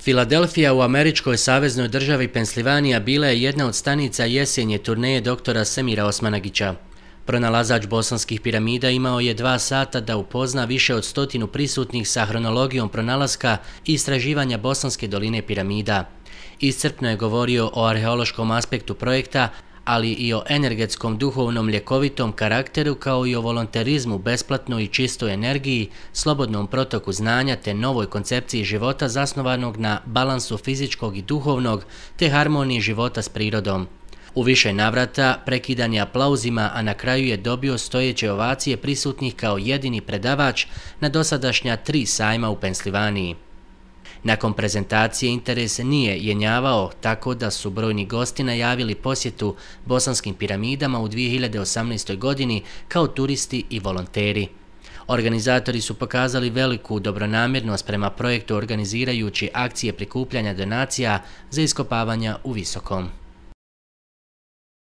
Filadelfija u američkoj saveznoj državi Pensilvanija bila je jedna od stanica jesenje turneje doktora Semira Osmanagića. Pronalazač bosanskih piramida imao je 2 sata da upozna više od 100 prisutnih sa hronologijom pronalaska i istraživanja Bosanske doline piramida. Iscrpno je govorio o arheološkom aspektu projekta, ali i o energetskom, duhovnom, ljekovitom karakteru kao i o volonterizmu, besplatnoj i čistoj energiji, slobodnom protoku znanja te novoj koncepciji života zasnovanog na balansu fizičkog i duhovnog te harmoniji života s prirodom. U više navrata prekidan je aplauzima, a na kraju je dobio stojeće ovacije prisutnih kao jedini predavač na dosadašnja 3 sajma u Pensilvaniji. Nakon prezentacije interes nije jenjavao, tako da su brojni gosti najavili posjetu bosanskim piramidama u 2018. godini kao turisti i volonteri. Organizatori su pokazali veliku dobronamjernost prema projektu organizirajući akcije prikupljanja donacija za iskopavanja u Visokom.